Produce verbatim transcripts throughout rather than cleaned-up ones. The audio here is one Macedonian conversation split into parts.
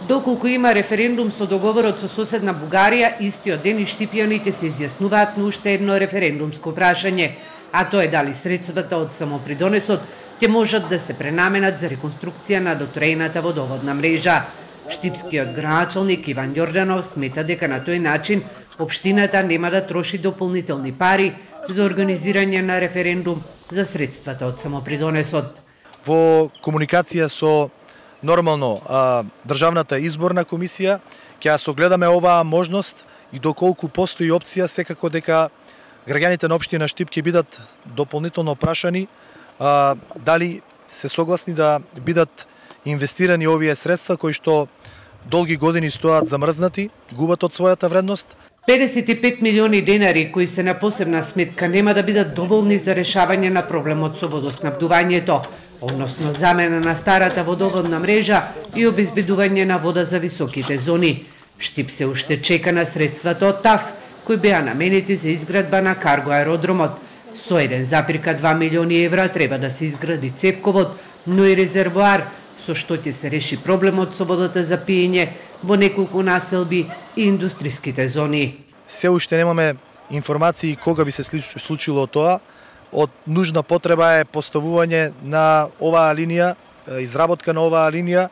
Доколку има референдум со договорот со соседна Бугарија, истиот ден и штипјаните се изјаснуваат на уште едно референдумско прашање, а тоа е дали средствата од самопридонесот ќе можат да се пренаменат за реконструкција на дотрејната водоводна мрежа. Штипскиот градоначалник Иван Јорданов смета дека на тој начин општината нема да троши дополнителни пари за организирање на референдум за средствата од самопридонесот. Во комуникација со нормално а, државната изборна комисија ќе согледаме оваа можност и доколку постои опција, секако дека граѓаните на општина Штип ќе бидат дополнително прашани а, дали се согласни да бидат инвестирани овие средства кои што долги години стоат замрзнати, губат од својата вредност. педесет и пет милиони денари кои се на посебна сметка нема да бидат доволни за решавање на проблемот со водоснабдувањето, односно замена на старата водоводна мрежа и обезбедување на вода за високите зони. Штип се уште чека на средствата од ТАФ, кои беа наменети за изградба на карго аеродромот. Со еден запирка два милиони евра треба да се изгради цевковод, но и резервоар, со што ќе се реши проблемот со водата за пиење во неколку населби и индустријските зони. Се уште немаме информации кога би се случило тоа. Од нужна потреба е поставување на оваа линија, изработка на оваа линија.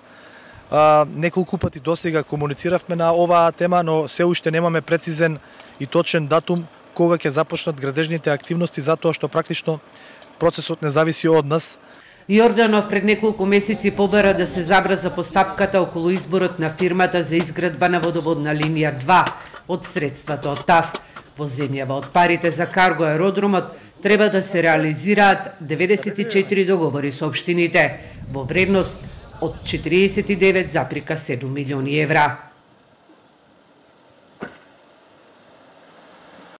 Неколку пати досега комунициравме на оваа тема, но се уште немаме прецизен и точен датум кога ќе започнат градежните активности, затоа што практично процесот не зависи од нас. Јорданов пред неколку месеци побара да се забрза постапката околу изборот на фирмата за изградба на водоводна линија два од средствата од ТАФ. Во земјава од парите за карго аеродромот треба да се реализираат деветдесет и четири договори со општините во вредност од четириесет и девет запирка седум милиони евра.